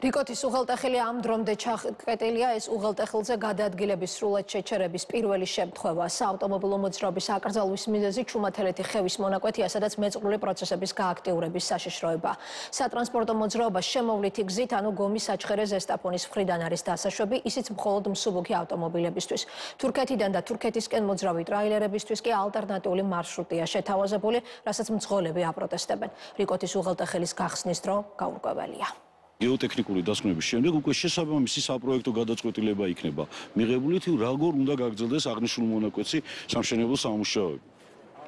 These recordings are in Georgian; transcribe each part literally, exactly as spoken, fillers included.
რიკოთის უღელტეხილი ამ დრომდე ჩაყეტილია ეს უღელტეხილზე გადაადგილების სრულად შეჩერების პირველი შემთხვევა. საავტომობილო მოძრაობის აკრძალვის მიზეზი ჩუმათელეთი ხევის მონაკვეთია, სადაც მეწყრული პროცესების გააქტიურების საშიშროება. სატრანსპორტო მოძრაობა შემოვლითი გზით, ანუ გომის საჩხერე ზესტაფონის მხრიდან არის დასაშვები, ისიც მხოლოდ მსუბუქი ავტომობილებისთვის. თურქეთიდან და თურქეთისკენ მოძრავი ტრაილერებისთვის კი ალტერნატიული მარშრუტია შეთავაზებული, რასაც მძღოლები აპროტესტებენ. რიკოთის უღელტეხილის გახსნის დრო გაურკვეველია. გეოტექნიკური დასკვნების შემდეგ უკვე შესაბამისი საპროექტო გადაწყვეტილება იქნება მიღებული თუ როგორ უნდა გაგრძელდეს აღნიშნული მონაკვეთი სამშენებლო სამუშაოები.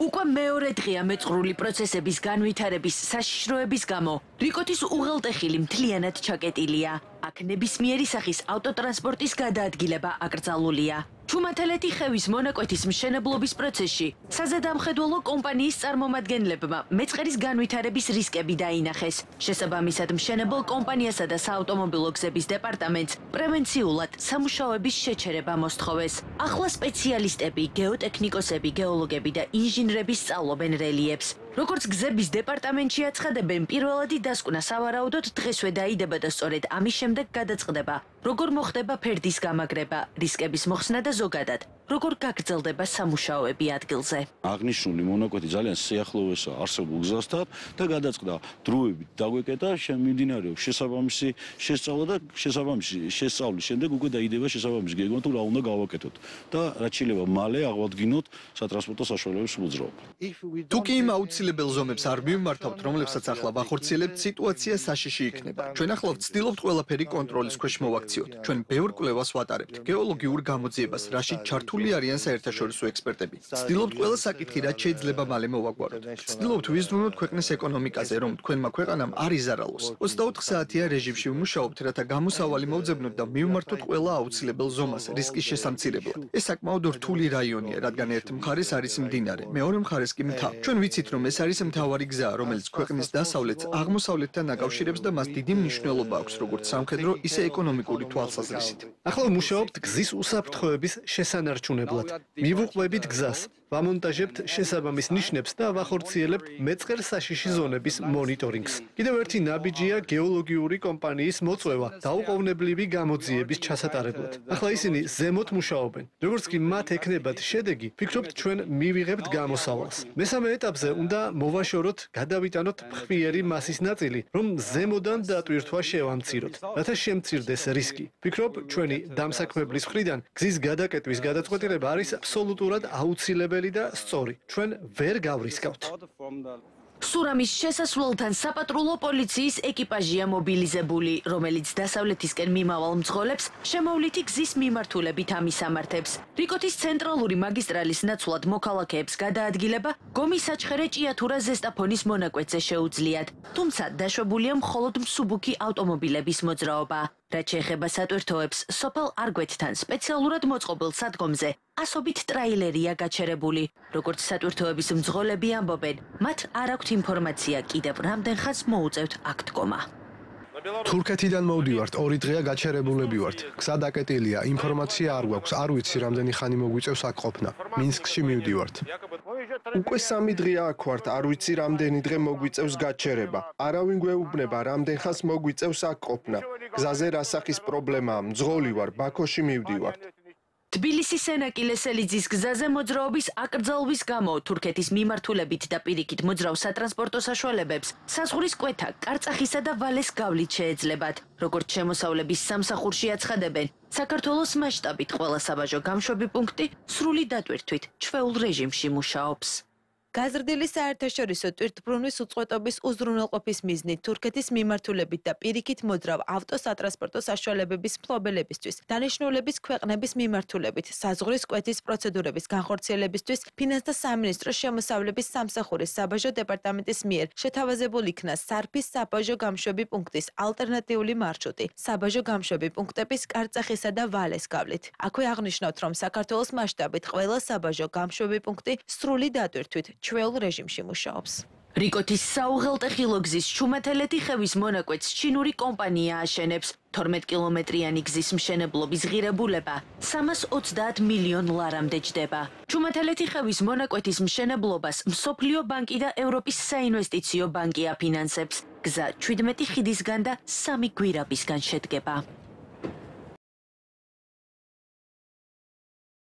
უკვე მეორე დღეა მეწყრული პროცესების განვითარების საშიშროების გამო რიკოთის უღელტეხილი მთლიანად ჩაკეტილია. აქ ნებისმიერი სახის ავტოტრანსპორტის გადაადგილება აკრძალულია. ჩუმათელეთი ხევის მონაკვეთის მშენებლობის პროცესში საზედამხედველო კომპანიის წარმომადგენლებმა მეწყერის განვითარების რისკები დაინახეს. შესაბამისად მშენებელ კომპანიასა და საავტომობილო გზების დეპარტამენტს პრევენციულად სამუშაოების შეჩერება მოსთხოვეს. ახლა სპეციალისტები, გეოტექნიკოსები, გეოლოგები და ინჟინრები სწავლობენ რელიეფს. როგორც გზების დეპარტამენტში აცხადებენ, პირველადი დასკვნა სავარაუდოდ დღესვე დაიდება და სწორედ ამის შემდეგ გადაწყდება, როგორ მოხდება ფერდის გამაგრება, რისკების მოხსნა და ზოგადად, როგორ გაგრძელდება სამუშაოები ადგილზე. აღნიშნული მონაკვეთი ძალიან სიახლოვესაა არსებულ გზასთან და გადაწყდა დროებით დაგვეკეტა, შემიმდინარეობს შესაბამისი შესწავლა და შესაბამისი შესწავლის შემდეგ უკვე დაიდება შესაბამისი გეგმა თუ რა უნდა გავაკეთოთ და რაც შეიძლება მალე აღვადგინოთ სატრანსპორტო საშუალებების მოძრაობა. თუ კი იმ აუცილებელ ზომებს არ მივმართავთ, რომლებსაც ახლა ვახორციელებთ, სიტუაცია საშიში იქნება. ჩვენ ახლა ვცდილობთ ყველაფერი კონტროლის ქვეშ მოვაქციოთ. ჩვენ ბევრ კვლევას ვატარებთ, გეოლოგიურ გამოძიებას, რაშიც ჩართული არიან საერთაშორისო ექსპერტები. ვცდილობთ ყველა საკითხი, რაც შეიძლება მალე მოვაგვაროთ. ვცდილობთ ვიზრუნოთ ქვეყნის ეკონომიკაზე, რომ თქვენმა ქვეყანამ არ იზარალოს. ოცდაოთხ საათიან რეჟიმში ვმუშაობთ, რათა გამოსავალი მოვძებნოთ და მივმართოთ ყველა აუცილებელ ზომას რისკის შესამცირებლად. ეს საკმაოდ რთული რაიონია, რადგან ერთ მხარეს არის მდინარე, მეორე მხარეს კი მთა. ჩვენ ვიცით, რომ ეს არის მთავარი გზა, რომელიც ქვეყნის დასავლეთს აღმოსავლეთთან აკავშირებს და მას დიდი მნიშვნელობა აქვს, როგორც სამხედრო, ისე ეკონომიკური თვალსაზრისით. ახლა ვმუშაობთ გზის უსაფრთხოების შესანარჩუნებლად. მივუყვებით გზას, ვამონტაჟებთ შესაბამის ნიშნებს და ვახორციელებთ მეწყერ საშიში ზონების მონიტორინგს. კიდევ ერთი ნაბიჯია გეოლოგიური კომპანიის მოწვევა დაუყოვნებლივი გამოძიების ჩასატარებლად. ახლა ისინი ზემოთ მუშაობენ. როგორც კი მათ ექნებათ შედეგი, ვფიქრობთ ჩვენ მივიღებთ გამოსავალს. მესამე ეტაპზე უნდა მოვაშოროთ, გადავიტანოთ ფხვიერი მასის ნაწილი, რომ ზემოდან დატვირთვა შევამციროთ, რათა შემცირდეს რისკი. ვფიქრობ, ჩვენი დამსაქმებლის მხრიდან გზის გადაკეტვის გადაწყვეტილება არის აბსოლუტურად აუცილებელი და სწორი. ჩვენ ვერ გავრისკავთ. სურამის შესასვლელთან საპატრულო პოლიციის ეკიპაჟია მობილიზებული, რომელიც დასავლეთისკენ მიმავალ მძღოლებს შემოვლითი გზის მიმართულებით ამისამართებს. რიკოთის ცენტრალური მაგისტრალის ნაცვლად მოქალაქეებს გადაადგილება გომის საჩხერე ჭიათურა ზესტაფონის მონაკვეთზე შეუძლიათ, თუმცა დაშვებულია მხოლოდ მსუბუქი ავტომობილების მოძრაობა. რაც შეეხება სატვირთოებს, სოფელ არგვეთთან სპეციალურად მოწყობილ სადგომზე ასობით ტრაილერია გაჩერებული. როგორც სატვირთოების მძღოლები ამბობენ, მათ არ აქვთ ინფორმაცია კიდევ რამდენ ხანს მოუწევთ აქ დგომა. თურქეთიდან მოვდივართ, ორი დღეა გაჩერებულები ვართ. გზა დაკეტილია, ინფორმაცია არ გვაქვს, არ ვიცი რამდენი ხანი მოგვიწევს აქ ყოფნა. მინსკში მივდივართ. უკვე სამი დღეა აქ ვართ, არ ვიცი რამდენი დღე მოგვიწევს გაჩერება. არავინ გვეუბნება რამდენ ხანს მოგვიწევს აქ ყოფნა. გზაზე რასახის პრობლემაა, მძღოლი ვარ, ბაქოში მივდივართ. თბილისის სენაკილესელიძის გზაზე მოძრაობის აკრძალვის გამო თურქეთის მიმართულებით და პირიქით მოძრავ სატრანსპორტო საშუალებებს საზღვრის კვეთა, კარწახისა და ვალეს გავლით შეეძლებათ. როგორც შემოსავლების სამსახურში აცხადებენ, საქართველოს მასშტაბით ყველა საბაჟო გამშვები პუნქტი სრული დატვირთვით ჩვეულ რეჟიმში მუშაობს. გაზრდილი საერთაშორისო ტვირთბრუნვის უწყვეტობის უზრუნველყოფის მიზნით თურქეთის მიმართულებით და პირიქით მოძრავ ავტოსატრანსპორტო საშუალებების მფლობელებისთვის დანიშნულების ქვეყნების მიმართულებით საზღვრის კვეთის პროცედურების განხორციელებისთვის ფინანსთა სამინისტროს შემოსავლების სამსახურის საბაჟო დეპარტამენტის მიერ შეთავაზებულ იქნა სარფის საბაჟო გამშვები პუნქტის ალტერნატიული მარშრუტი საბაჟო გამშვები პუნქტების კარწახისა და ვალეს გავლით. აქვე აღნიშნავთ, რომ საქართველოს მასშტაბით ყველა საბაჟო გამშვები პუნქტი სრული დატვირთვით ჩვეულ რეჟიმში მუშაობს. რიკოთის საუღელტეხილო გზის ჩუმათელეთი ხევის მონაკვეთს ჩინური კომპანია აშენებს. თორმეტ კილომეტრიანი გზის მშენებლობის ღირებულება სამას ოცდაათ მილიონ ლარამდე ჯდება. ჩუმათელეთი ხევის მონაკვეთის მშენებლობას მსოფლიო ბანკი და ევროპის საინვესტიციო ბანკი აფინანსებს. გზა ჩვიდმეტი ხიდისგან და სამი გვირაბისგან შედგება.